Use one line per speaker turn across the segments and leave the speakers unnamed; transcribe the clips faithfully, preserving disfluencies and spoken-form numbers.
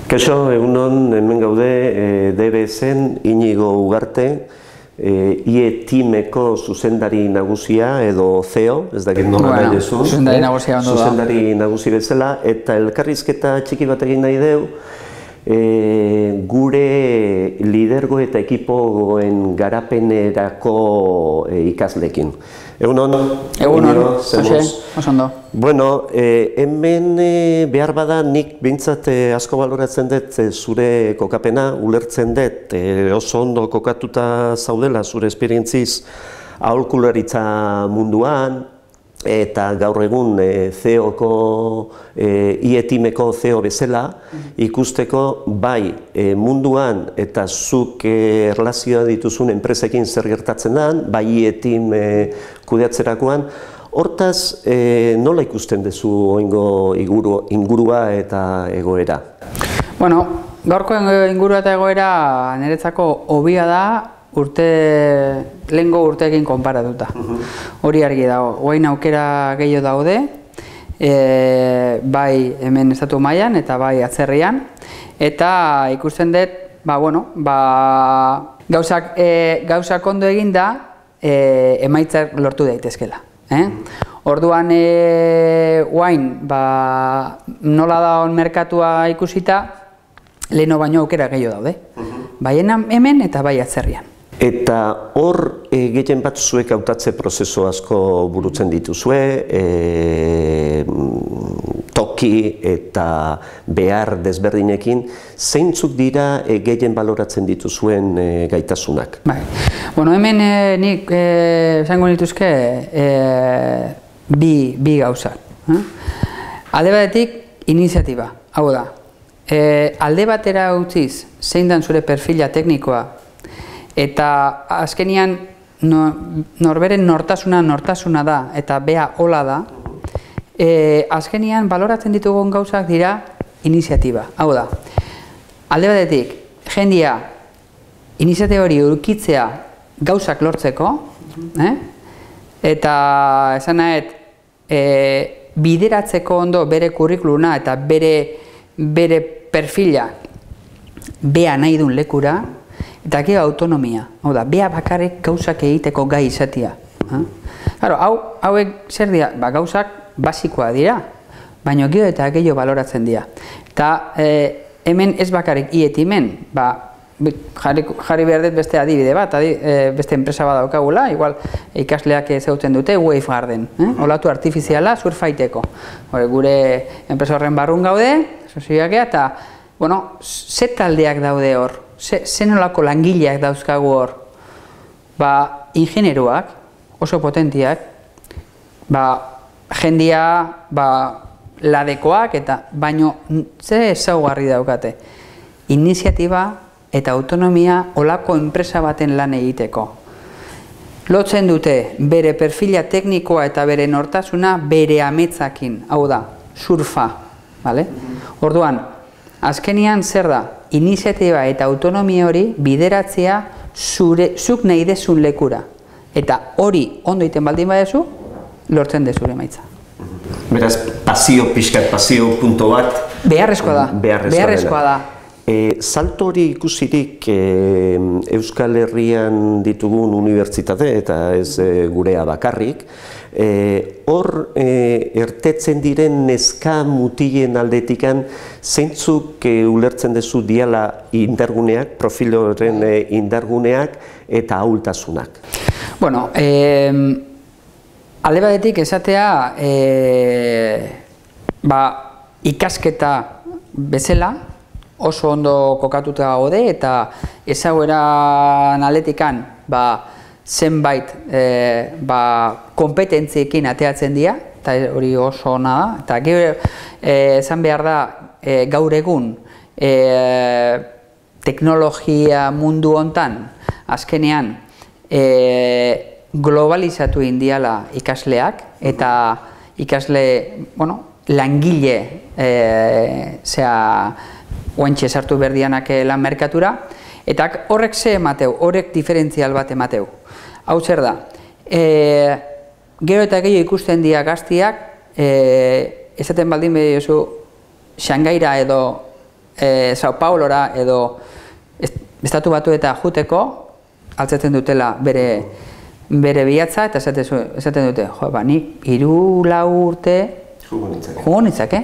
Kaixo, egunon hemen gaude D B S-en Inigo Ugarte, I E Teameko zuzendari nagusia edo C E O, ez dakit nola nahi dezu.
Zuzendari nagusia ondo da.
Zuzendari nagusi bezala, eta elkarrizketa txiki bat egin nahi deu, gure lidergo eta ekipoen garapenerako ikasleekin. Egunon?
Egunon, oso ondo.
Bueno, hemen behar bada nik behintzat asko baloratzen dut zure kokapena, ulertzen dut oso ondo kokatuta zaudela zure esperientziz aholkularitza munduan, eta gaur egun C E O-ko, I E Teameko C E O bezala ikusteko bai munduan eta zuk erlazioa dituzun enpresekin zer gertatzen den, bai I E Team kudeatzerakoan. Hortaz, nola ikusten duzu oingo ingurua eta egoera?
Bueno, gaurko ingurua eta egoera niretzako hobia da urte, lehengo urteekin konparatuta. Hori argi dago, guain aukera gehiago daude, bai hemen estatu mailan eta bai atzerrian, eta ikusten dut, ba, bueno, ba, gauzak, gauzak ondo eginda, emaitzak lortu daitezkela. Orduan, guain, ba, nola da on merkatua ikusita, leheno baino aukera gehiago daude. Bai hemen eta bai atzerrian.
Eta hor gehien bat zuek hautatze prozesu asko burutzen dituzue, toki eta behar desberdinekin, zeintzuk dira gehien baloratzen dituzuen gaitasunak?
Bueno, hemen nik esango nituzke bi gauzak. Alde batetik, iniziatiba. Hau da, alde batera utziz, zein dan zure perfila teknikoa, eta azkenian norberen nortasuna nortasuna da, eta bea hola da, azkenian baloratzen ditugun gauzak dira iniziatiba. Hau da, alde batetik, jendia iniziatiba hori urkitzea gauzak lortzeko, eta esan nahet, bideratzeko ondo bere kurrikuluna eta bere perfila bea nahi duen lekura, eta gero autonomia, hau da, bea bakarrik gauzak egiteko gai izatea. Hauek zer dira, gauzak basikoa dira, baina gero eta gehiago baloratzen dira. Eta hemen ez bakarrik I E Teamen, jarri behar dut beste adibide bat, beste enpresa bat daukagula, igual ikasleak ezagutzen dute, Wavegarden, olatu artifiziala surfaiteko. Gure enpresa horren barrun gaude, sozioak eta, bueno, ze taldeak daude hor? Zen olako langileak dauzkagu hor, ba, ingenieroak, oso potentiak, ba, jendia, ba, ladekoak, eta baino, ze ezaugarri daukate, iniziatiba eta autonomia olako enpresa baten lan egiteko. Lotzen dute, bere perfila teknikoa eta bere nortasuna bere ametzakin, hau da, surfa, bale? Orduan, azkenian zer da, iniziatiba eta autonomia hori bideratzea zuk nahi dezun lekura. Eta hori ondo iten baldin badezu, lortzen dezure emaitza.
Beraz, pasio pixkat, pasio punto bat...
Beharrezkoa da. Beharrezkoa da.
Salto hori ikusirik Euskal Herrian ditugun unibertsitate eta ez gurea bakarrik, hor ertetzen diren neska mutilen aldetikan zeintzuk ulertzen duzu diala indarguneak, profil horren indarguneak eta ahultasunak?
Bueno, alde batetik esatea ikasketa bezala, oso ondo kokatuta gaude eta ezaguera analetikan zenbait kompetentziekin ateatzen dira, eta hori oso ona da, eta gero esan behar da gaur egun teknologia mundu hontan azkenean globalizatu indiala ikasleak eta ikasle, bueno, langile zea oentxe sartu berdianak lan merkatura, Eta horrek ze emateu, horrek diferentzial bat emateu. Hau zer da, gero eta gehiago ikusten dira gaztiak, esaten baldin behiozu Xangaira edo Sao Paulora edo Estatu Batu eta juteko, altzatzen dutela bere bere bihatza, eta esaten dute, jo, ba, nik hiru lau urte jugo nitzake.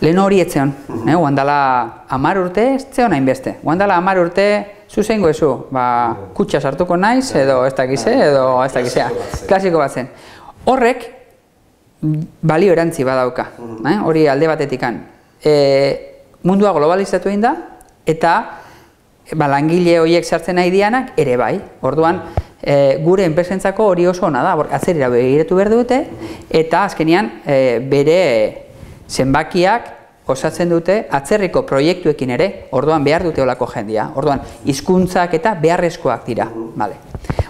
Lehen hori etzeon, guandala hamar urte, ez zeon hainbeste. Guandala hamar urte, zuzeingo ezu, ba, kutsa sartuko naiz, edo ez dakize, edo ez dakizea. Klasiko bat zen. Horrek, balio erantzi badauka, hori alde batetikan. Mundua globalizatu egin da, eta langile horiek sartzen nahi dianak, ere bai. Orduan, gure enpresentzako hori oso ona da, atzerira begiratu behar dute, eta azkenean bere zenbakiak osatzen dute atzerriko proiektuekin ere, orduan behar dute olako jendia, orduan hizkuntzak eta beharrezkoak dira.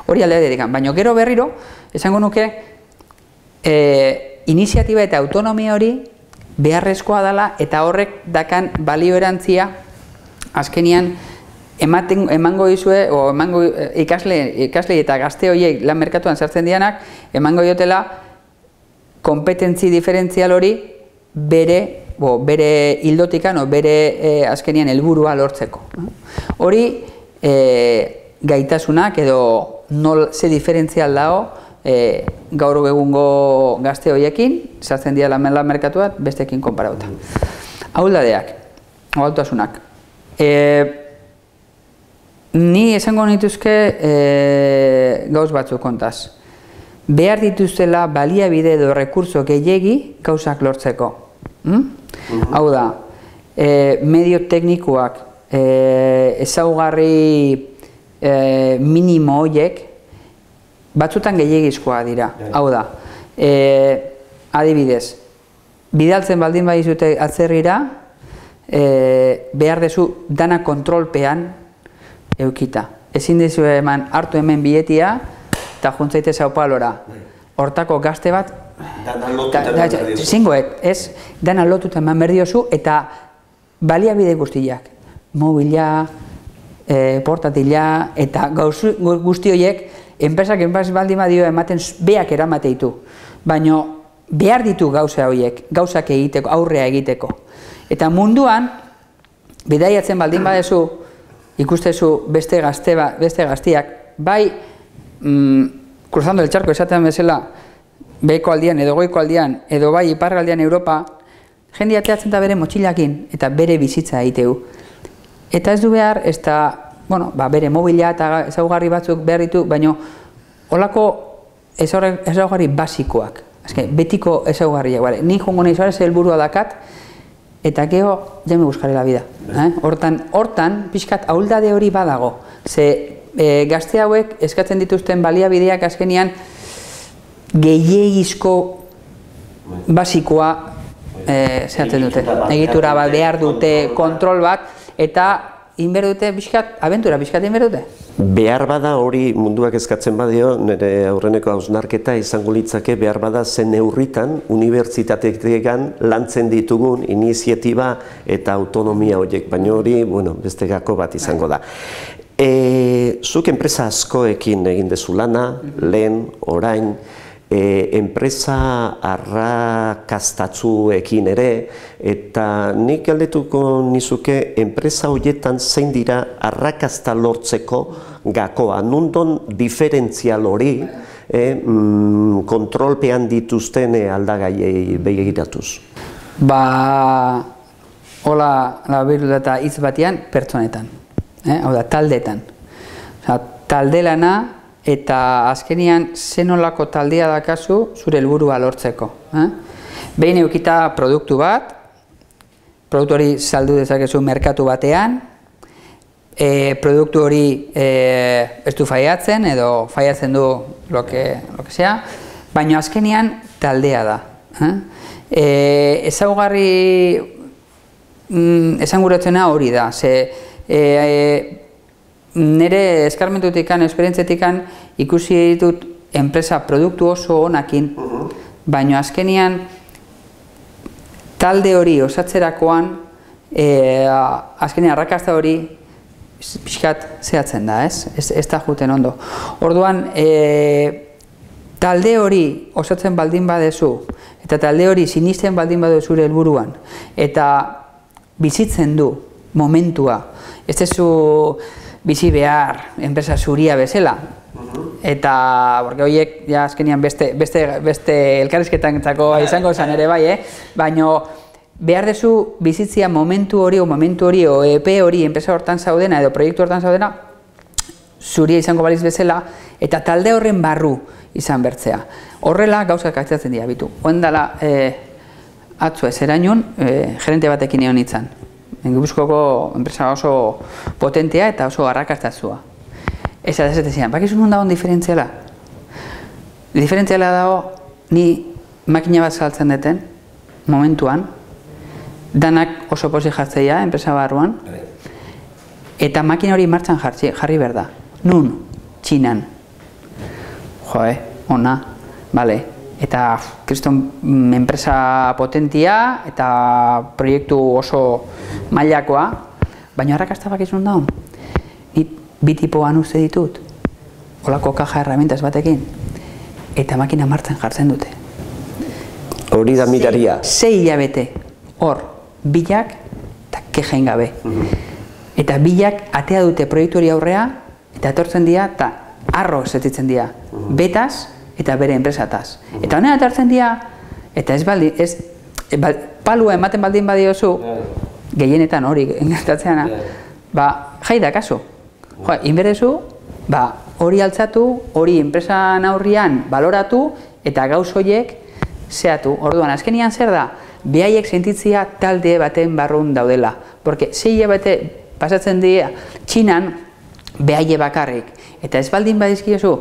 Hori alde dedikan, baina gero berriro, esango nuke, iniziatiba eta autonomia hori beharrezkoa dela eta horrek dakan balio erantzia azkenean emango dizue, o emango ikasle eta gazte horiek lan merkatuan sartzen dianak, emango diotela kompetentzi diferentzial hori bere bere hildotikan, o bere azkenean helburua lortzeko. Hori gaitasunak edo ze diferentzial dago gaur egungo gazte horiekin, sartzen dira lan merkatuat bestekin konparauta. Ahuldadeak, ahultasunak. Ni esango nituzke gauz batzuk kontaz. Behar dituztela baliabide edo rekurso gehiegi gauzak lortzeko. Hau da, medio teknikoak ezaugarri minimo horiek batzutan gehiagizkoa dira. Hau da, adibidez, bidaltzen baldin badizute atzerrira, behar dezu dana kontrolpean eukita. Ezin dizu eman hartu hemen biletia eta juntzaite Sao Paulora. Hortako gazte bat, zingoet, ez, dana lotuta eman berdiozu eta baliabide guztiak. Mobila, portatila eta guzti horiek, enpresak enpresak baldin badio ematen beak eramateitu. Baina behar ditu gauza horiek, gauzak egiteko, aurrea egiteko. Eta munduan, bidaiatzen baldin badezu, ikustezu beste gaztiak, bai, cruzando el charco esaten bezala, behiko aldian edo goiko aldian, edo bai iparraldean Europa, jende ateatzen da bere motxilakin eta bere bizitza egiteu. Eta ez du behar, ez da, bueno, bere mobila eta ezaugarri batzuk behar ditu, baina holako ezaugarri basikoak, betiko ezaugarriak, ni jongo nahi zoarez helburua dakat, eta geho, ja me buscaré la vida. Hortan, pixkat, ahuldade hori badago. Ze gazte hauek eskatzen dituzten baliabideak azkenean gehiegizko basikoa zehatzen dute. Egitura bat behar dute, kontrol bat, eta inber dute pixkat, abentura pixkat inber dute.
Behar bada hori munduak eskatzen badio, nire aurreneko hausnarketa izango litzake behar bada zen neurritan unibertsitateetan lantzen ditugun iniziatiba eta autonomia horiek, baina hori beste gako bat izango da. Zuk enpresa askoekin egin dezu lana, lehen, orain, enpresa arrakastatzuekin ere, eta nik galdetuko nizuke enpresa horietan zein dira arrakasta lortzeko gakoa, nundon diferentzial hori kontrolpean dituzten aldagaiei begiratuz?
Ba, hola, labiru eta hitz batean pertsonetan, hau da, taldetan. Talde lana, eta azkenean zenolako taldea dakazu zure helburua lortzeko. Behin eukita produktu bat, produktu hori saldu dezakezu merkatu batean, produktu hori ez du faiatzen edo faiatzen du lo que sea, baina azkenean taldea da. Ezaugarri esanguratzena hori da, ze nire eskarmentutikan, esperientzetikan ikusi ditut enpresa produktu oso onakin, baina azkenean talde hori osatzerakoan, azkenean arrakasta hori pixkat zehatzen da, ez? Ez, ez da juten ondo. Orduan, e, talde hori osatzen baldin badezu, eta talde hori sinisten baldin badezu zure helburuan, eta bizitzen du momentua, ez dezu bizi behar enpresa zuria bezala, eta, porque horiek, ja, azkenian beste, beste, beste elkarrizketan izango zen ere bai, eh? Baina, behar dezu bizitzia momentu hori, o momentu hori, o E P hori, enpresa hortan zaudena, edo proiektu hortan zaudena, zuria izango baliz bezala, eta talde horren barru izan bertzea. Horrela gauzak atzatzen dira, bitu. Oendala, eh, atzo ez erainun, eh, gerente batekin egon nintzen. Gipuzkoako enpresa oso potentea eta oso arrakastazua. Ez da ez zian, bakizu nun dagoen diferentziala? Diferentziala dago, ni makina bat saltzen deten, momentuan, danak oso pozik jartzeia, enpresa barruan, eta makina hori martxan jarri behar da. Nun, Txinan. Joe, ona, bale. Eta, kriston, enpresa potentia eta proiektu oso mailakoa, baina arrakasta bakizun daun. Ni bi tipoan uste ditut, holako kaja herramientas batekin, eta makina martxan jartzen dute.
Hori da miraria.
Sei hilabete, hor, bilak eta kejain gabe. Eta bilak atea dute proiektu hori aurrea, eta etortzen dira, eta arro zetitzen dira, betaz eta bere enpresataz. Eta honen atartzen dira, eta ez baldi, ez, palua ematen baldin badiozu, gehienetan hori engertatzeana, ba, jai da kasu. Jo, inberezu, ba, hori altzatu, hori enpresan aurrian baloratu, eta gauz horiek zehatu. Orduan, azkenian zer da, behaiek sentitzia talde baten barrun daudela. Porque sei hilabete pasatzen dira, Txinan, behaie bakarrik. Eta ez baldin badizkiozu,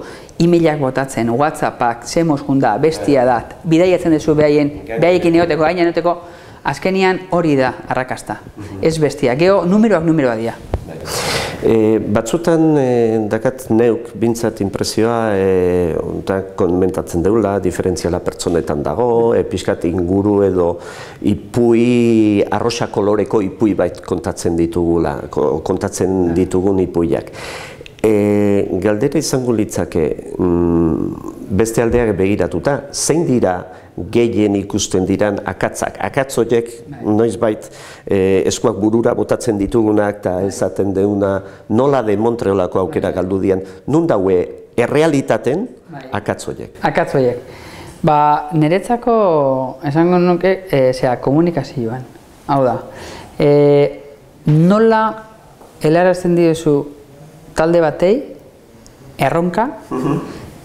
e-mailak botatzen, WhatsAppak, zemoz junda, bestia dat, bidaiatzen duzu behaien, behaiekin egoteko, gaina egoteko, azkenian hori da arrakasta. Ez bestia, geho numeroak numeroa dira.
E, batzutan e, dakat neuk bintzat impresioa e, komentatzen deula, diferentziala pertsonetan dago, e, pixkat inguru edo ipui, arroxa koloreko ipui bait kontatzen ditugula, kontatzen ditugun ipuiak. E, galdera izango litzake, mm, beste aldeak begiratuta, zein dira gehien ikusten diran akatzak. Akatz horiek noizbait e, eskuak burura botatzen ditugunak eta esaten deuna nola de Montreolako aukera galdu dian, nun daue errealitaten akatz horiek.
Akatz horiek. Ba, niretzako esango nuke e, zera, komunikazioan. Hau da, e, nola helarazten diozu talde batei erronka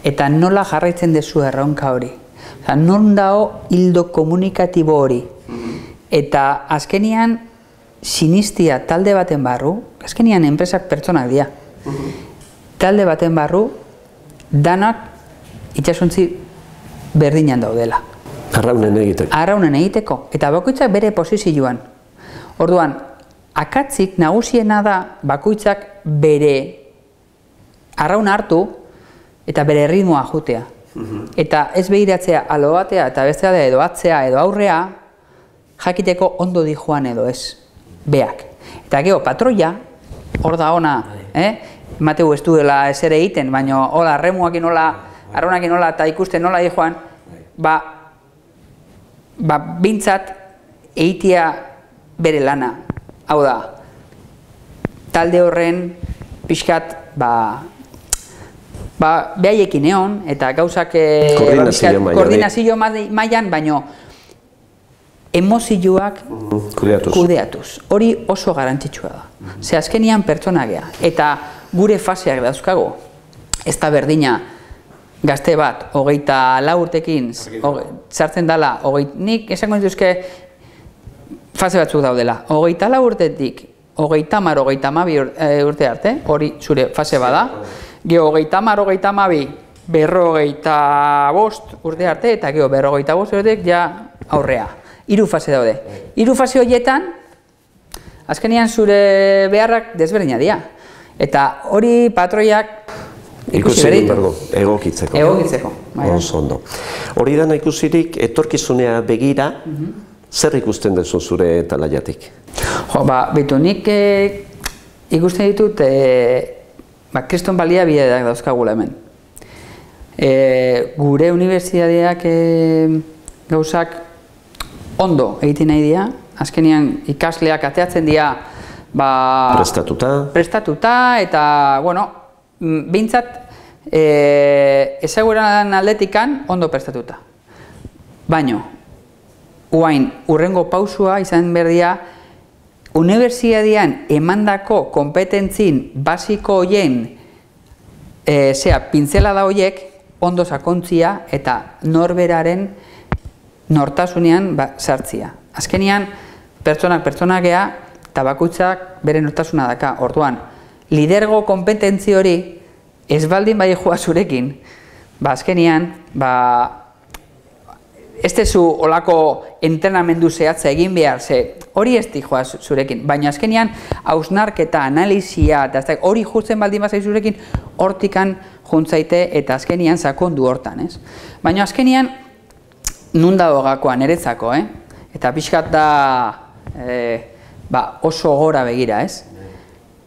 eta nola jarraitzen dezu erronka hori. Non dago hildo komunikatibo hori. Eta azkenian sinistia talde baten barru, azkenian enpresak pertsonak dira. Talde baten barru, danak itxasuntzi berdinan daudela.
Arraunen egiteko.
Arraunen egiteko. Eta bakoitzak bere posizioan. Orduan, akatzik nagusiena da bakoitzak bere arraun hartu eta bere ritmoa jutea. Eta ez behiratzea alo batea eta bestea da edo atzea edo aurrea jakiteko ondo di joan edo ez, beak. Eta geho, patroia, hor da ona, eh? Mateu ez duela ez ere egiten, baina hola, remuakin hola, arraunakin hola eta ikusten nola di joan, ba, ba, bintzat eitia bere lana. Hau da, talde horren pixkat, ba, ba, behaiekin egon, eta gauzak koordinazio mailan, baino emozioak kudeatuz. Hori oso garantzitsua da. Ze azkenian pertsona gea, eta gure faseak dauzkago, ez da berdina gazte bat, hogeita lau urtekin, sartzen dela, nik esango dituzke fase batzuk daudela, hogeita lau urtetik, hogeita hamar, hogeita hamabi urte arte, hori zure fase bada, geho hogeita hamar, hogeita hamabi, berrogeita bost urte arte, eta geho berrogeita bost urteek ja aurrea. Hiru fase daude. Hiru fase horietan, azkenean zure beharrak desberdina dira. Eta hori patroiak ikusi beritu.
Egokitzeko.
Egokitzeko.
Oso ondo. Hori dana ikusirik, etorkizunea begira, zer ikusten duzu zure talaiatik?
Jo, ba, betu, nik ikusten ditut, e, ba, kriston baliabideak dauzkagula hemen. E, gure unibertsitateak e, gauzak ondo egiten nahi dira, azkenean ikasleak ateatzen dira ba,
prestatuta.
prestatuta eta, bueno, behintzat e, ezaguran aldetikan ondo prestatuta. Baino, uain, urrengo pausua izan berdia, unibertsitatean emandako kompetentzin basiko hoien e, zera, pintzelada hoiek ondo sakontzia eta norberaren nortasunean ba, sartzia. Azkenean, pertsonak pertsonak gea eta bakoitzak bere nortasuna daka. Orduan, lidergo kompetentzi hori ez baldin bai joa zurekin, ba, azkenean, ba, ez dezu olako entrenamendu zehatza egin behar, ze hori ez di joa zurekin, baina azkenean hausnarketa, analizia, eta hori jutzen baldin bazai zurekin, hortikan juntzaite eta azkenean sakondu hortan, ez? Baina azkenean, nun dago gakoa, niretzako, eh? Eta pixkat da e, ba, oso gora begira, ez?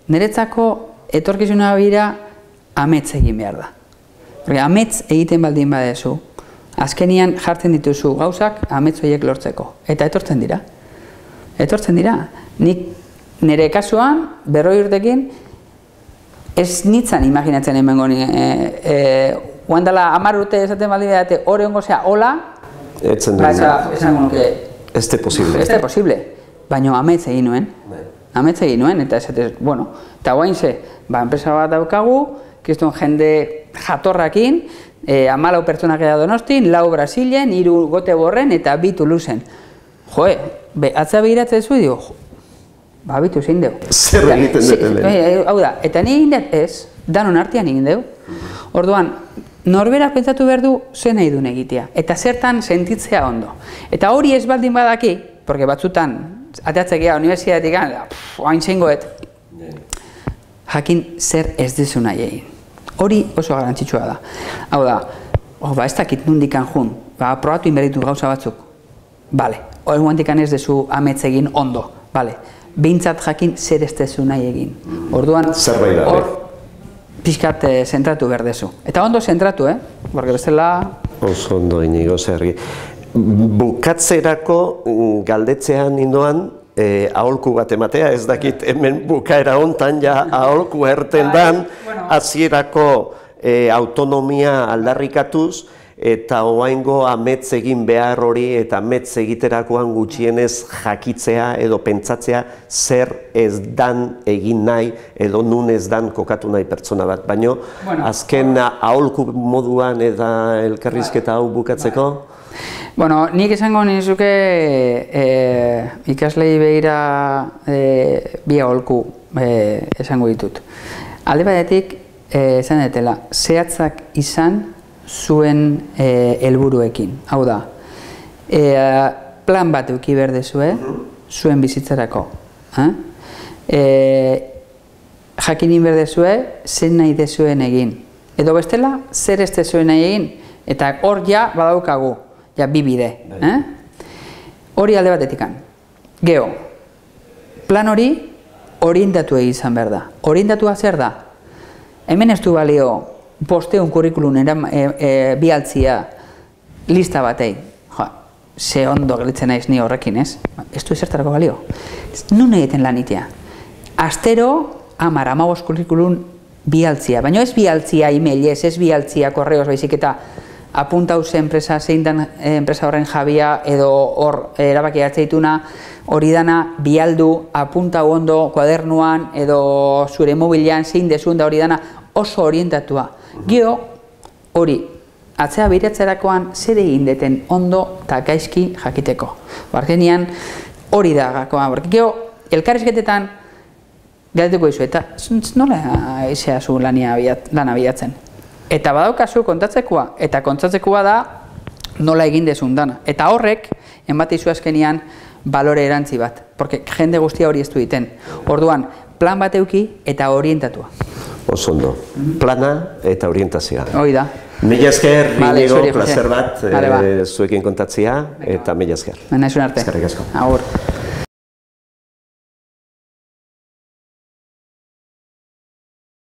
Niretzako etorkizuna begira amets egin behar da. Porque amets egiten baldin badezu, azkenean jartzen dituzu gauzak amets horiek lortzeko. Eta etortzen dira. Etortzen dira. Nik nire kasuan, berroi urtekin, ez nitzan imaginatzen hemen goni. E, e, Guandala hamar urte esaten baldin badate, hori ongo zea, hola,
etzen
ba, esan nuke,
ez de posible.
Ez de posible. Baina amets egin nuen. Amets egin nuen, eta esatez, bueno, eta guain ze, ba, enpresa bat daukagu, kriston jende jatorrakin, e, amalau pertsonak eda Donostin, lau Brasilen, hiru gote borren eta bi Tuluzen. Joe, be, atza behiratzen zu, dio, ba, bitu zein deu.
Zer egiten duten lehen?
Hau da, eta ni egin dut ez, danon artean egin deu. Orduan, norberak pentsatu behar du zen nahi duen egitea, eta zertan sentitzea ondo. Eta hori ez baldin badaki, porque batzutan, ateatzek ea, unibertsitatetik, hain zengoet, jakin zer ez dezu nahi egin. Hori oso garrantzitsua da. Hau da, oh, ba, ez dakit nundikan jun, ba, probatu inberditu gauza batzuk. Bale, hori guantikan ez dezu amets egin ondo, bale. Behintzat jakin zer ez dezu nahi egin. Orduan, hor, pixkat eh, zentratu behar dezu. Eta ondo zentratu, eh? Porque bestela...
Oso ondo inigo zergi. Bukatzerako galdetzean indoan, E, aholku bat ematea, ez dakit hemen bukaera hontan ja aholku erten dan, hasierako e, autonomia aldarrikatuz, eta oaingo amets egin behar hori eta amets egiterakoan gutxienez jakitzea edo pentsatzea zer ez dan egin nahi edo nun ez dan kokatu nahi pertsona bat. Baina bueno, azken aholku moduan eta elkarrizketa hau bukatzeko?
Bueno, nik esango nizuke e, ikaslei begira e, bi aholku e, esango ditut. Alde batetik, e, esan detela, zehatzak izan zuen e, helburuekin. Hau da, e, plan bat euki behar dezue, zuen bizitzarako. Eh? E, jakinin behar dezue, zen nahi dezuen egin. Edo bestela, zer ez dezuen nahi egin. Eta hor ja badaukagu. Ja, bi bide. Eh? Hori alde batetikan. Geo, plan hori orientatu egizan behar da. Orientatua zer da? Hemen ez du balio bosteun kurrikulun e, e, bialtzia lista batei. Jo, ze ondo gelitzen naiz ni horrekin, ez? Ez du ezertarako balio. Nun egiten lan itea. Astero, amar, amabos kurrikulun bialtzia. Baina ez bialtzia emailez, ez bialtzia korreos baizik eta apuntauze enpresa, zein dan enpresa horren jabia edo hor erabaki hartzeituna hori dana bialdu, apuntau ondo kuadernuan edo zure mobilean zein dezun da hori dana oso orientatua. Gio hori atzea biratzerakoan zer egin deten ondo eta gaizki jakiteko. Barkenean hori da gakoa. Gio elkarrizketetan galdetuko dizu eta nola izea zu lana bilatzen. Eta badaukazu kontatzekoa, eta kontatzekoa da nola egin dezun dana. Eta horrek, enbatizu azkenian, balore erantzi bat. Porque jende guztia hori ez du egiten. Orduan, plan bat euki eta orientatua.
Oso ondo. Plana eta orientazioa.
Hoi da.
Mila esker, Inigo, placer bat zuekin kontatzea, eta mila esker.
Naizun arte.
Eskerrik asko.
Agur.